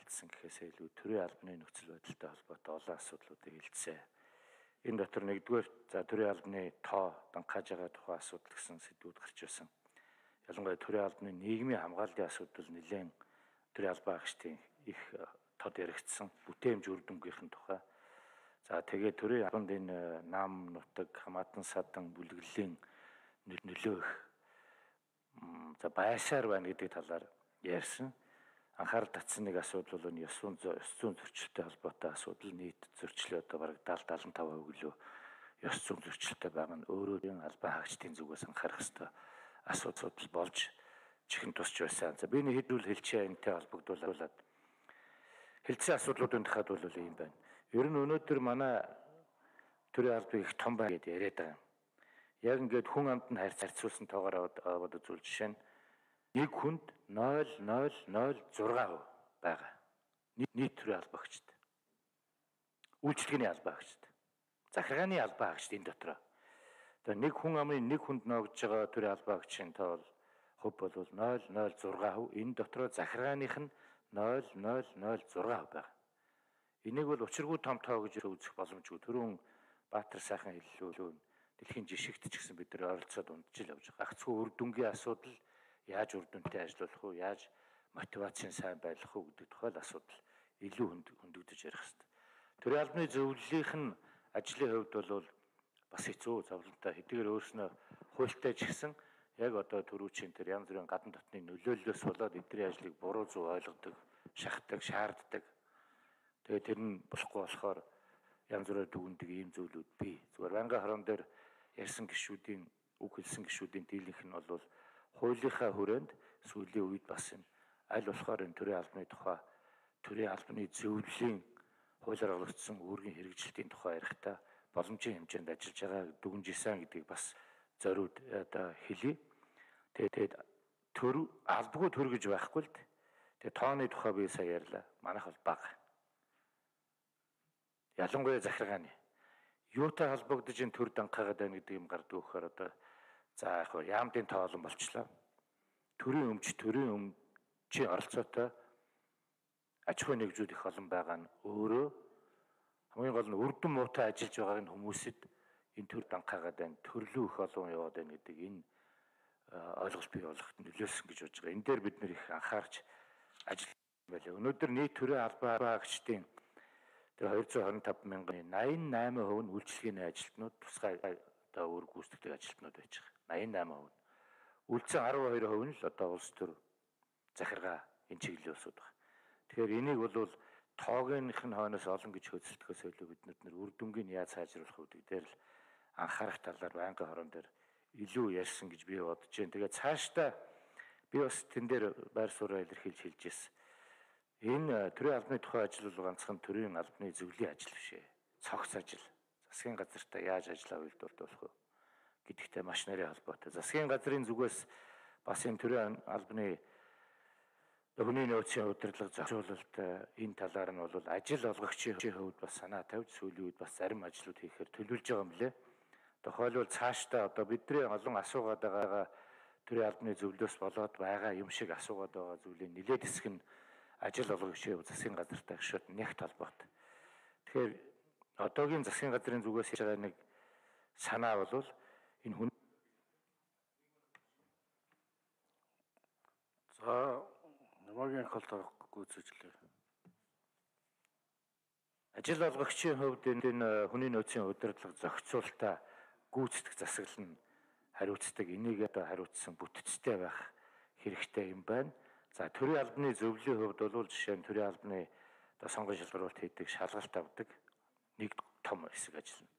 ярилцсан гэхээсээ илүү төрийн албаны нөхцөл байдалтай холбоотой олон асуудлуудыг хэлцээ. Энэ дотор нэгдүгээр төрийн албаны тоо дангаж байгаа тухай асуудал гэсэн сэдвүүд гарч байсан. Ялангуяа төрийн албаны нийгмийн хамгааллын асуудал нэлээд төрийн албан агчдын их тод яригдсан бүтээмж үр дүнгийнхэн тухай. За тэгээд төрийн албанд энэ нам нутаг хамаатан садан бүлэглэлийн нөлөө их байшаар байна гэдэг талаар ярьсан. Анхаарал татсан нэг асуудал бол энэ ёс зүйн зөрчилтэй холбоотой асуудал нийт зөрчлөө одоо бараг 70-75% гэлөө ёс зүйн зөрчилтэй байгаа нь өөрөө албан хаагчдын зүгээс анхаарах ёстой асуудал болж чихэн тусч байсан. За би нэг хэдүүл хэлчихээ энэтэй холбогдуулаад хэлцсэн асуудлуудын дахиад бол ийм байна. Ер нь өнөөдөр манай төрийн албан их том байна гэдээ яриад байгаа. Яг ингээд хүн амт нь харьцуулсан тоогоор аваад үзвэл жишээ нь нэг хүнд 0,006% байгаа. Нийт төрийн албан хаагчид. Үйлчлэгээний албан хаагчид. Захиргааны албан хаагчид энэ дотроо. Тэгээ нэг хүн амын нэг хүнд ногдож байгаа төрийн албан хаагчийн тоо хувь бол 0,006%. Энэ дотроо захиргааных нь 0,006% байгаа. Энийг бол учиргүй том тоо гэж үзэх боломжгүй. Түрүүн Баатар сайхан хэллээ. Дэлхийн жишгт ч гэсэн бид нар ойролцоод унтж явж байгаа. Гагцхүү үр дүнгийн асуудал яаж үр дүнтэй ажиллах вэ? Яаж мотивацийн сайн байх вэ гэдэг тухай асуудал илүү хөндөгдөж ярих хэрэгтэй. Төрийн албаны зөвлөлийнх нь ажлын хувьд бол бас хэцүү зовлонтой хэдийгээр өөрснөө хуультай ч гэсэн яг одоо төрүүчийн тэр янз бүрийн гадна дотны нөлөөллөөс болоод эдний ажлыг буруу зөв ойлгодог, шахдаг, шаарддаг. Тэгээд тэр нь болохгүй болохоор янз бүрээр дүгндэг ийм зүйлүүд бий. Зүгээр байнгын хорон дээр ярьсан гишүүдийн үг хэлсэн гишүүдийн дийлэнх нь бол хуулийнхаа хүрээнд сүүлийн үед бас энэ аль болохоор энэ төрийн албаны тухай төрийн албаны зөвлөлийн хуулиар олгогдсон үүргийн хэрэгжилтийн тухай ярихдаа боломжийн хэмжээнд ажиллаж байгаа дүгнжсэн гэдгийг бас зориуд одоо хэлье. Тэгээд албагүй төр гэж байхгүй л дээ. Тэгээд тооны тухай би сая ярьлаа. Манайх бол бага. Ялангуяа захиргааны. Юутай холбогдож энэ төр дангаагаад байна гэдэг юм гардаг өгөхөөр одоо за яг хөө яамдын тоо олон болчлоо. Төрийн өмчийн оролцоотой аж ахуйн нэгжүүд их олон байгаа нь өөрөө хамгийн гол нь үрдэн муутай ажиллаж байгаа энэ хүмүүсэд энэ төр дангаагаад байна. Төрлөө их олон яваад байна гэдэг энэ ойлголт бий болгоход нөлөөлсөн гэж бодож байгаа. Энэ дээр бид нэр их анхаарч ажиллах байлаа. Өнөөдөр нийт төрийн албан хаагчдын тэр 225 мянган 88% нь үйлчлэгээний ажилтнууд тусгай одоо үүрэг гүйцэтгэдэг ажилтнууд байж байгаа. 88%. Үлдсэн 12% нь л одоо улс төр захиргаа энэ чиглэлийн улсууд байна. Тэгэхээр энийг бол тоогийнх нь хойноос олон гэж хөдөлтөхөөс илүү бид нар үр дүнгийн яаж сайжруулах вэ гэдэг дээр л анхаарах талаар байнгын хорон дээр илүү ярьсан гэж би бодож байна. Тэгээд цаашдаа би бас тэн дээр байр сууриа илэрхийлж хэлж ирсэн. Энэ төрийн албаны тухай ажил бол ганцхан төрийн албаны зөвлөлийн ажил биш ээ. Цогц ажил. Засгийн газартаа яаж ажиллаа үйлдвэрлэх вэ гэдэгтэй маш нарийн холбоотой. Засгийн газрын зүгээс бас энэ төрийн албаны хүний нөөцийн удирдлага зохицуулалт энэ талаар нь бол ажил олгогчийн хувьд бас санаа тавьж сүүлийн үед бас зарим ажлууд хийхээр төлөвлөж байгаа юм лээ. Тухайлбал цаашдаа одоо бидний олон асуугаад байгаа төрийн албаны зөвлөлөөс болоод байгаа юм шиг асуугаад байгаа зүйлийн нэлээд хэсэг нь ажил олгогчийн засгийн газартай гişүүд нэгт холбоотой. Тэгэхээр одоогийн засгийн газрын зүгээс хийж байгаа нэг санаа бол энэ хүн намаагийн холтоо гүйцэжлээ. Ажил олгогчийн хувьд энэ хүний нөөцийн удирдлага зохицуулалтаа гүйцэтгэх засаглал нь хариуцдаг. Энийг одоо хариуцсан бүтцтэй байх хэрэгтэй юм байна. За төрийн албаны зөвлөлийн хувьд бол жишээ нь төрийн албаны одоо сонгон шалгаруулалт хийдэг, шалгалт авдаг нэг том хэсэг ажиллана.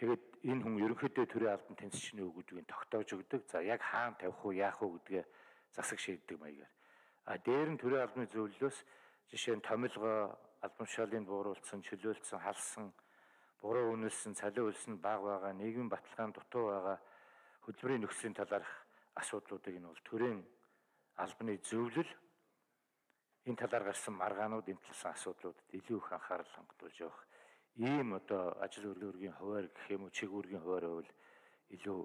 Тэгээд энэ хүн ерөнхийдөө төрийн албан тэнцвэрчний үг гэдгийг тогтоож өгдөг. За яг хаана тавих уу, яах уу гэдгээ засаг шийддэг маягаар. Дээр нь төрийн албаны зөвлөлөөс жишээ нь томилгоо, албан тушаалыг бууруулсан, чөлөөлсөн, халсан, буруу үнэлсэн, цалин үлсэн бага байгаа, нийгмийн баталгаан дутуу байгаа хөдөлмөрийн нөхцөлийн талаарх асуудлуудыг нь бол төрийн албаны зөвлөл энэ талаар гарсан маргаанууд энэ талсан асуудлуудад илүү их анхаарал хандуулж явах ийм одоо ажил үйлдвэрийн хуваар гэх юм уу, чиг үүргийн хуваар бол илүү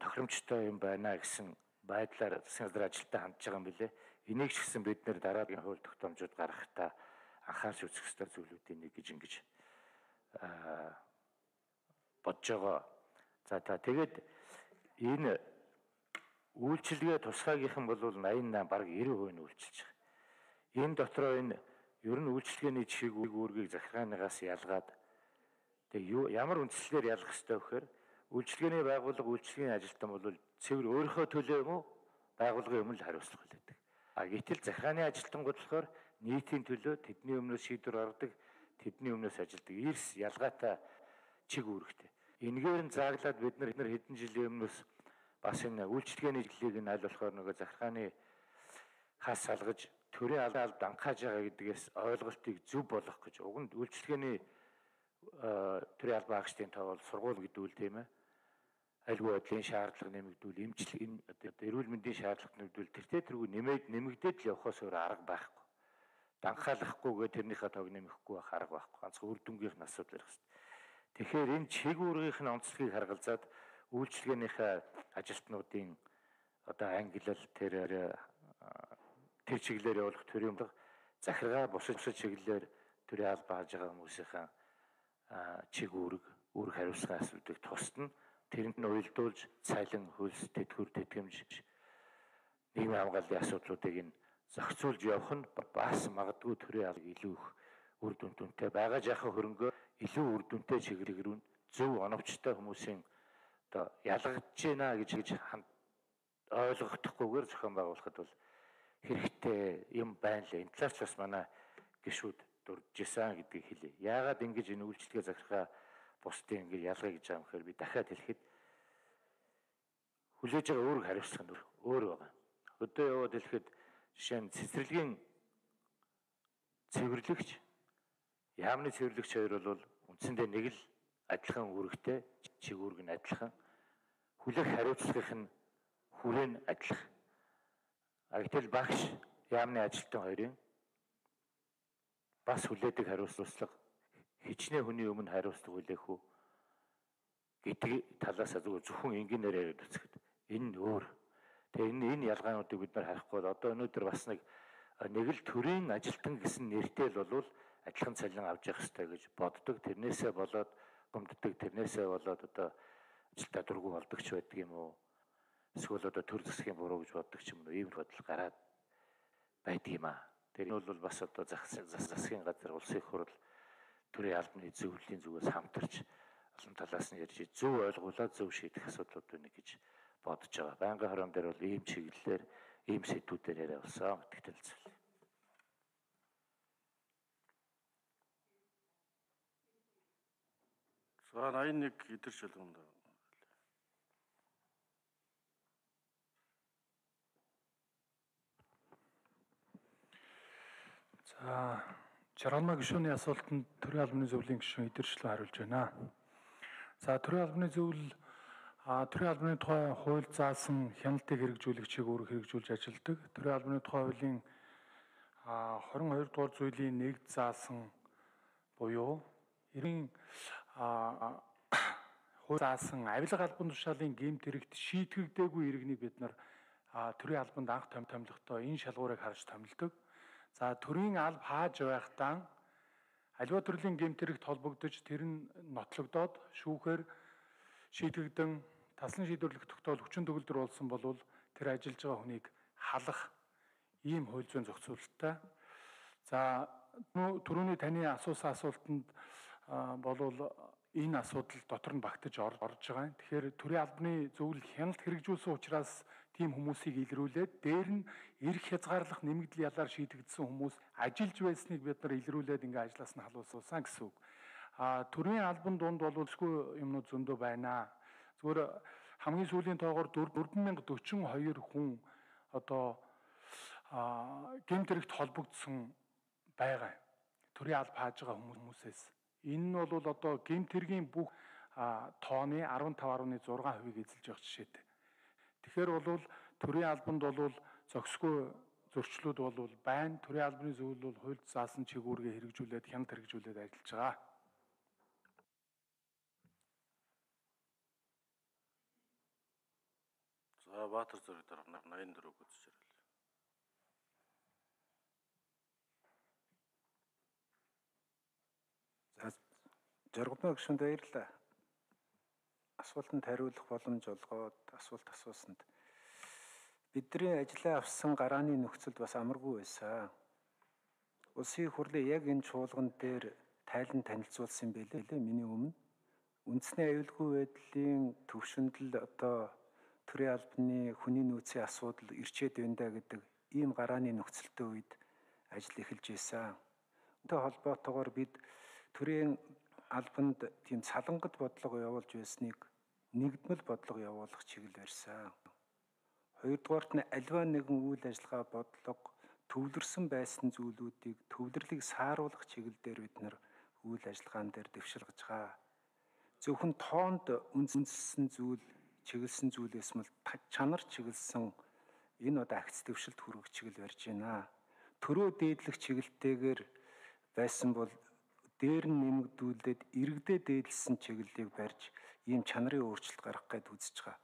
тохиромжтой юм байна гэсэн байдлаар засгийн газар ажилтаа хандж байгаа юм билээ. Энийг ч гэсэн бид нэр дараагийн хууль тогтоомжууд гаргахдаа анхаарч үзэх ёстой зүйлүүдийн нэг гэж ингэж бодож байгаа. За тэгээд энэ үйлчилгээ тусгаагийнхан бол 88 бараг 90% нь үйлчилж байгаа. Энэ дотроо энэ ер нь үйлчилгээний чиг үүргийг захиргаанаас ялгаад тэгээ ямар үндслээр ялгах ёстой вэ гэхээр үйлчилгээний байгууллага үйлчилгээний ажилтан бол цэвэр өөрийнхөө төлөө юм уу байгууллагын өмнө л хариуцлага хүлээдэг. Гэтэл захиргааны ажилтнууд болохоор нийтийн төлөө тэдний өмнөөс шийдвэр гаргадаг, тэдний өмнөөс ажилдаг. Эрс ялгаатай чиг үүрэгтэй. Энэгээр нь зааглаад бид нар хэдэн жилийн өмнөөс бас энэ үйлчилгээний чиглэлийг нь аль болохоор нөгөө захиргааны хас салгаж төрийн албад анхааж байгаа гэдгээс ойлголтыг зөв болгох гэж уг нь үйлчилгээний төрийн албан хаагчдын тоо бол сургууль гэдэг үл тийм ээ. Альгүй байдлын шаардлага нэмэгдүүл, эрүүл мэндийн шаардлага нэмэгдүүл тэргүй нэмэгдээд л явахаас өөр арга байхгүй. Данхаалахгүйгээ тэрнийхээ тоог нэмэхгүй байх арга байхгүй. Ганцхан үр дүнгийнх нь асуудал ярих хэрэгтэй. Тэгэхээр энэ чиг үүргийнх нь онцлогийг харгалзаад үйлчилгээнийхээ ажилтнуудын одоо ангилал тэр чиглэлээр явуулах төрийн захиргаа бусад чиглэлээр төрийн албан хааж байгаа хүмүүсийн чиг үүрэг хариуцлага асуудыг тусна. Тэрэнд нь уялдуулж цалин, хөлс, тэтгэвэр, тэтгэмж, нийгмийн хамгааллын асуудлуудыг нь зохицуулж явах нь бас магадгүй төрийн албан илүү их үр дүнтэй байгаа жаахан хөрөнгөө илүү үр дүнтэй чиглэл рүү зөв оновчтой хүмүүсийн одоо ялгаж байна гэж ойлгохдохгүйгээр зохион байгуулахад бол хэрэгтэй юм байна лээ. Энэ талаас бас манай гишүүд дурдж исэн гэдгийг хэлье. Яагаад ингэж энэ үйлчлэгээ захиргаа бусдын ингэ ялгая гэж байгаа юм хэрэг би дахиад хэлэхэд хүлээж байгаа үүрэг хариуцлага нь өөр байгаа. Өдөө яваад хэлэхэд жишээ нь цэцэрлэгийн цэвэрлэгч, яамны цэвэрлэгч хоёр бол үндсэндээ нэг л адилхан үүрэгтэй, чиг үүрэг нь адилхан. Хүлээх хариуцлагын нь хүрээ нь адилхан. Гэтэл багш яамны ажилтан хоёрын бас хүлээдэг хариуцлага хичнээн хүний өмнө хариуцлага хүлээх үү гэдэг талаас зөвхөн энгийнээр яриад үзэхэд энэ нь өөр. Тэгээ энэ ялгаануудыг бид нар харахгүй бол одоо өнөөдөр бас нэг л төрийн ажилтан гэсэн нэртэй л болвол адилхан цалин авч явах хэрэгтэй гэж боддог. Тэрнээсээ болоод гомддог, тэрнээсээ болоод одоо ажилтаа дургүй болдог ч байдаг юм уу? Эсвэл одоо төр засгийн буруу гэж боддог ч юм уу? Ийм бодол гараад байдаг юм аа. Тэр нь бол бас одоо засгийн газар, улсын их хурл төрийн албаны зөвлөлийн зүгээс хамтарч олон талаас нь ярьж зөв ойлгуулаад зөв шийдэх асуудлууд байна гэж бодож байгаа. Байнгын хорон дээр бол ийм чиглэлээр, ийм сэдвүүдээр яриа болсон гэдэгт хэлцэл. За 81 идэрч болгонд. За Жаргалмаа гишүүний асуултанд төрийн албаны зөвлөлийн гишүүн идэрчлэн хариулж байна. За төрийн албаны зөвлөл төрийн албаны тухай хууль заасан хяналтыг хэрэгжүүлэх чиг үүрэг хэрэгжүүлж ажилладаг. Төрийн албаны тухай хуулийн 22 дугаар зүйлийн 1 заасан буюу эрийн хууль заасан авилга албан тушаалын гэмт хэрэгт шийтгэгдээгүй иргэнийг бид нар төрийн албанд анх томилохдоо энэ шалгуурыг харж томилдог. За төрийн алба хааж байхдаа аливаа төрлийн гэмт хэрэгт холбогдож тэр нь нотлогдоод шүүхээр шийдэгдэн таслан шийдвэрлэх тогтоол хүчин төгөлдөр болсон бол тэр ажиллаж байгаа хүнийг халах ийм хууль зүйн зохицуулалттай. За түрүүний таны асуусан асуултанд болвол энэ асуудал дотор нь багтаж орж байгаа. Тэгэхээр төрийн албаны зөвлөл хяналт хэрэгжүүлсэн учраас тийм хүмүүсийг илрүүлээд дээр нь эрх хязгаарлах нэмэгдэл ялаар шийдэгдсэн хүмүүс ажиллаж байсныг бид нар илрүүлээд ингээ ажлаас нь халуулсан гэсэн үг. Төрийн албан дунд боловсгүй юмнууд зөндөө байна. Зүгээр хамгийн сүүлийн тоогоор 4042 хүн одоо гэмт хэрэгт холбогдсон байгаа. Төрийн алба хааж байгаа хүмүүсээс. Энэ нь бол одоо гэмт хэргийн бүх тооны 15.6%-ийг эзэлж явах жишээтэй. Тэгэхээр бол төрийн албанд бол зохисгүй зөрчлүүд бол байна. Төрийн албаны зөвлөл бол хуульд заасан чиг үүргээ хэрэгжүүлээд хяналт хэрэгжүүлээд ажиллаж байгаа. За Баатар зэрэг дарга 84 үзэж ирэл. Жаргалмаа гишүүнд баярлалаа. Асуултанд хариулах боломж олгоод асуулт асуусанд бидний ажиллаа авсан гарааны нөхцөлд бас амаргүй байсан. Улсын хурлын яг энэ чуулган дээр тайлан танилцуулсан байлээ миний өмнө. Үндэсний аюулгүй байдлын төвшөнд л одоо төрийн албаны хүний нөөцийн асуудал ирчээд байна да гэдэг ийм гарааны нөхцөлтэй үед ажил эхэлж байсан. Үүнтэй холбоотойгоор бид төрийн албанд тийм салангат бодлого явуулж байсныг нэгдмэл бодлого явуулах чиглэл барьсан. Хоёрдугаарт нь альва нэгэн үйл ажиллагаа бодлого төвлөрсөн байсан зүйлүүдийг төвлөрлийг сааруулах чиглэл дээр бид нар үйл ажиллагаан дээр дэвшилгэж байгаа. Зөвхөн тоонд үндэслэн зүйл, чиглэсэн зүйлээс мэл чанар чиглэсэн энэ одоо агц дэвшилт хүргэх чиглэл барьж байна. Төрөө дээдлэх чиглэлтэйгээр байсан бол дээр нь нэмэгдүүлээд иргэдээ дээдлсэн чиглэлийг барьж ийм чанарын өөрчлөлт гаргах гээд үзэж байгаа.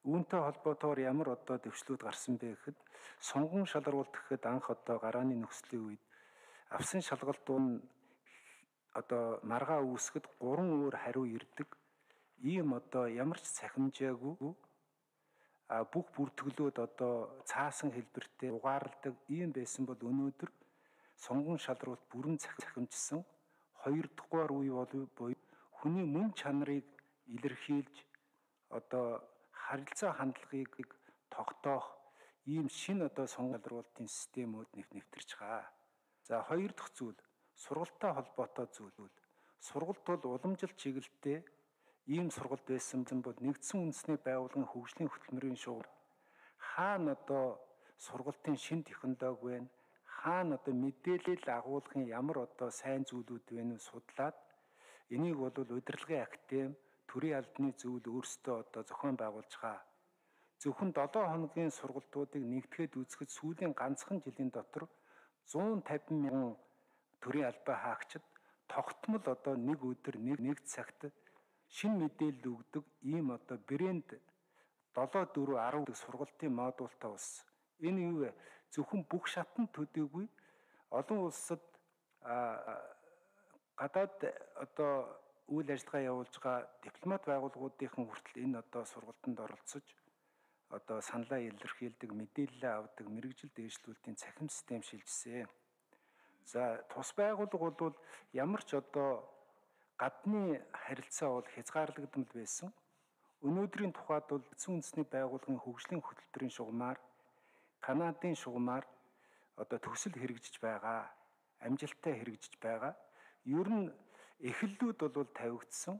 Үүнтэй холбоотойгоор ямар одоо дэвшлүүд гарсан бэ гэхэд сонгон шалгаруулалт гэхэд анх одоо гарааны нөхцөлийн үед авсан шалгалтууд нь одоо маргаа үүсгэд 3 өөр хариу ирдэг. Ийм одоо ямар ч цахимжаагүй бүх бүртгэлүүд одоо цаасан хэлбэртэй угаарладаг ийм байсан бол өнөөдөр сонгон шалгаруулалт бүрэн цахимжсан 2 дугаар үе буюу хүний мөн чанарыг илэрхийлж одоо харилцаа хандлагыг тогтоох ийм шинэ одоо сонгон шалгаруулалтын системүүд нэвтэрч байгаа. За 2 дахь зүйл сургалттай холбоотой зүйл. Сургалт бол уламжлалт чиглэлтэй ийм сургалт байсан бол нэгдсэн үндэсний байгууллагын хөгжлийн хөтөлмөрийн шугам хаана одоо сургалтын шинэ технологи байна, хаана одоо мэдээлэл агуулгын ямар одоо сайн зүйлүүд байна судлаад энийг бол удирдлагын академи төрийн албаны зүйл өөрсдөө одоо зохион байгуулж байгаа. Зөвхөн 7 хоногийн сургалтуудыг нэгтгэхэд үзэхэд сүүлийн ганцхан жилийн дотор 150 мянган төрийн албаа хаагчид тогтмол одоо нэг өдөр нэг цагт шинэ мэдээлэл өгдөг ийм одоо брэнд 7-4-10 сургалтын модултай болсон. Энэ юу вэ? Зөвхөн бүх шатанд төдийгүй олон улсад гадаад одоо үйл ажиллагаа явуулж байгаа дипломат байгууллагуудын хүртэл энэ одоо сургалтанд оролцож одоо саналаа илэрхийлдэг, мэдээлэл авдаг, мэрэгжил дээшлүүлэлтийн цахим систем шилжсэн. За тус байгууллага бол ямар ч одоо гадны харилцаа бол хязгаарлагдмал байсан. Өнөөдрийн тухайд бол эцсийн үндэсний байгууллагын хөгжлийн хөтөлбөрийн шугамар, Канадын шугамар одоо төсөл хэрэгжиж байгаа, амжилттай хэрэгжиж байгаа. Ер нь эхлэлүүд бол тавигдсан.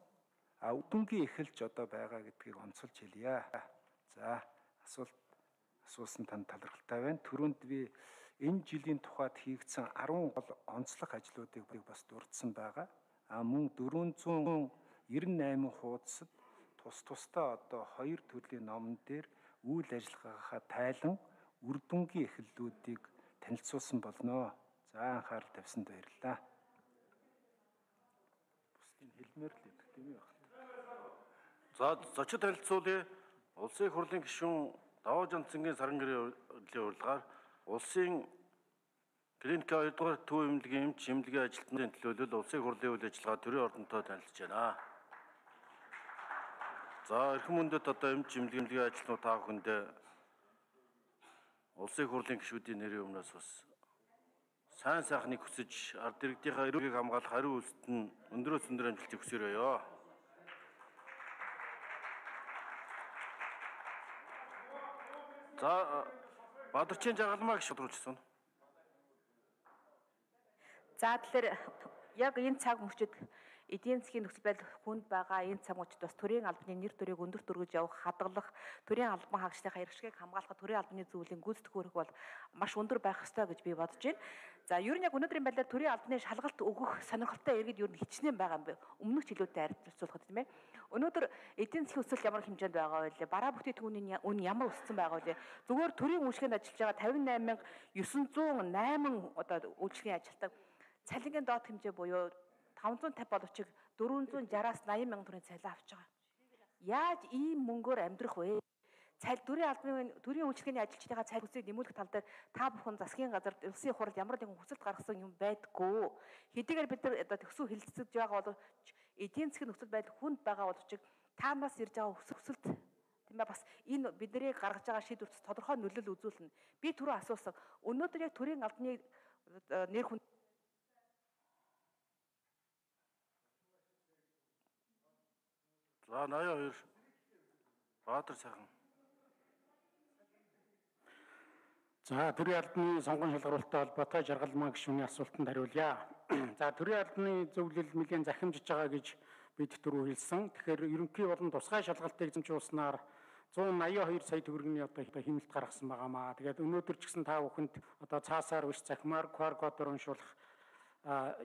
Үдэнгийн эхэлж одоо байгаа гэдгийг онцолж хэлье. За асуусан танд талархалтай байна. Түрүүнд би энэ жилийн тухайд хийгдсэн 10 гол онцлог ажлуудыг бас дурдсан байгаа. Мөн 498 хуудасд тусдаа одоо 2 төрлийн номон дээр үйл ажиллагаагаа тайлан үр дүнгийн эхлэлүүдийг танилцуулсан болно. За анхаарал тавьсанд баярлалаа. Бусдын хэлмээр л гэдэг тийм үү? За зочид танилцуулъя. Улсын их хурлын гишүүн Даваа Жанцангийн саран гэрийн урилгаар улсын клиник 2 дугаар төв эмнэлгийн эмч эмнэлгийн ажилтнуудын төлөөлөл улсын их хурлын үйл ажиллагаа төрийн ордонтой танилцж байна. За эрхэм мөндөд одоо эмч эмнэлгийн ажилтнууд та бүхэндээ улсын их хурлын гишүүдийн нэрийн өмнөөс бас сайн сайхныг хүсэж ард иргэдийнхээ эрүүгийг хамгаалах хариу үйлсэд нь өндрөөс өндөр амжилтыг хүсээрэй. За Бадарчин Жаргалмаа гишүүд рүүлжсэн. За тэгэхээр яг энэ цаг мөчид эдийн засгийн нөхцөл байдал хүнд байгаа энэ цаг мөчид бас төрийн албаны нэр төрийг өндөрт өргөж явах, хадгалах, төрийн албан хаагчдын иргэшгийг хамгаалах төрийн албаны зөвлөлийн гүйцэтгэх үүрэг бол маш өндөр байх ёстой гэж би бодож байна. За ер нь яг өнөөдрийн байдлаар төрийн албаны шалгалт өгөх сонирхолтой иргэд ер нь хичнээн байгаа юм бэ. Өмнөх жилүүдэд харьцуулахад тийм ээ. Өнөөдөр эдийн засгийн өсөлт ямар хэмжээнд байгаа вэ? Бараа бүтээгдэхүүний үн ямар өссөн байгаа вэ? Зүгээр төрийн үйлчлэгэнд ажиллаж байгаа 58,908 одоо үйлчлэгийн ажилтнаа цалингийн доод хэмжээ буюу 550 боловчиг 460-аас 80 мянган төгрөгийн цалин авч байгаа. Яаж ийм мөнгөөр амьдрах вэ? Төрийн үйлчлэгээний ажилчдынхаа цалин хүсийг нэмүүлэх тал дээр та бүхэн засгийн газар улсын хурал ямар нэгэн хүсэлт гаргасан юм байдгүй. Хэдийгээр бид нар одоо төсөв хэлэлцэж байгаа бол эдийн засгийн нөхцөл байдал хүнд байгаа боловч таанаас ирж байгаа өсөлт тийм ээ бас энэ бидний гаргаж байгаа шийдвэрт тодорхой нөлөөлөл үзүүлнэ. Би түрүү асуусан. Өнөөдөр яг төрийн албаны нэр хүн За 82 Баатар сайхан. За төрийн албаны сонгон шалгаруулалттай холбоотой жаргалмаа гишүүний асуултанд хариулъя. За төрийн албаны зөвлөл нэлээд захимжиж байгаа гэж бид түрүү хэлсэн. Тэгэхээр ерөнхий болон тусгай шалгалтыг эзэмшүүлснээр 182 сая төгрөгийн одоо хэмнэлт гаргасан байгаамаа. Тэгээд өнөөдөр ч гэсэн та бүхэнд одоо цаасаар биш захимаар QR кодоор уншуулах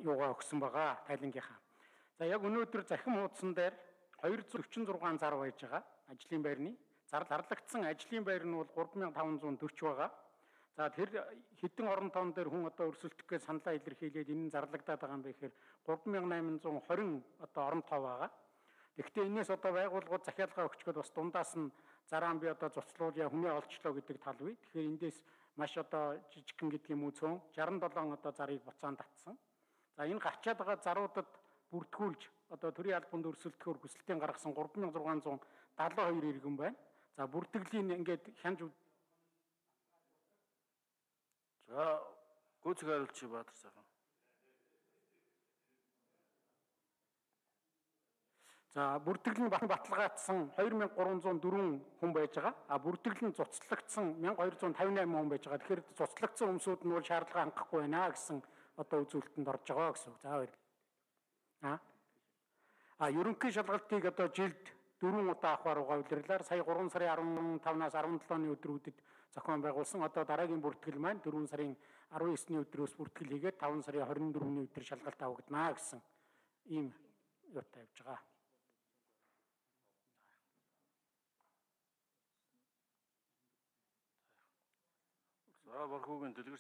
юугаа өгсөн байгаа тайлангийнхаа. За яг өнөөдөр захим хуудсан дээр 246 зар байж байгаа ажлын байрны. Зарлагдсан ажлын байр нь бол 3540 байгаа. За тэр хэдэн орон тоон дээр хүн одоо өрсөлдөх гэж саналаа илэрхийлээд энэ нь зарлагдаад байгаа юм бэ гэхээр 3820 одоо орон тоо байгаа. Гэхдээ энэс одоо байгууллагууд захиалгаа өгчгөл бас дундаас нь зарaan би одоо зуцлуулъя хүнээ олчлоо гэдэг тал бий. Тэгэхээр эндээс маш одоо жижигхэн гэдэг юм уу цөөн 67 одоо зарыг буцаан татсан. За энэ гарчаад байгаа заруудад бүртгүүлж одоо төрийн албанд өрсөлдөхөөр хүсэлтийн гаргасан 3672 иргэн байна. За бүртгэлийн ингээд хянж За гүйцэг хариулчих Баатар сайхан. За бүртгэл нь баталгаажсан 2304 хүн байж байгаа. А бүртгэл нь цуцлагдсан 1258 хүн байж байгаа. Тэгэхээр цуцлагдсан хүмүүсүүд нь бол шаардлага хангахгүй байна гэсэн одоо үзүүлэлтэнд орж байгаа гэсэн үг. За баяр. Ерөнхий шалгалтыг одоо жилд 4 удаа авахар угаа улирлаар сая 3 сарын 15-наас 17-ны өдрүүдэд зохион байгуулсан. Одоо дараагийн бүртгэл маань 4 сарын 19-ний өдрөөс бүртгэл хийгээд 5 сарын 24-ний өдөр шалгалт авагдана гэсэн ийм юутай явж байгаа. За Борхогийн дэлгэр